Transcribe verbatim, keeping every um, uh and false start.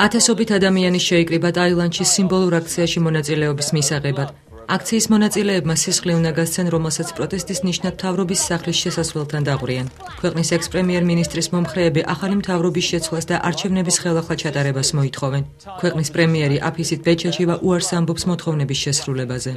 ათასობით ადამიანი შეიკრიბა ტაილანდში სიმბოლურ აქციაში მონაწილეობის მისაღებად. აქციის მონაწილეებმა სისხლი უნდა გასცენ, რომელსაც პროტესტის ნიშნად მთავრობის სახლის შესასვლელთან დაყვრიან. ქვეყნის ექს-პრემიერ-მინისტრის მომხრეები ახალი მთავრობის შეცვლას და არჩევნების ხელახლა ჩატარებას მოითხოვენ. ქვეყნის პრემიერი აფისით ბეჩაჩევა უარს ამბობს მოთხოვნების შესრულებაზე.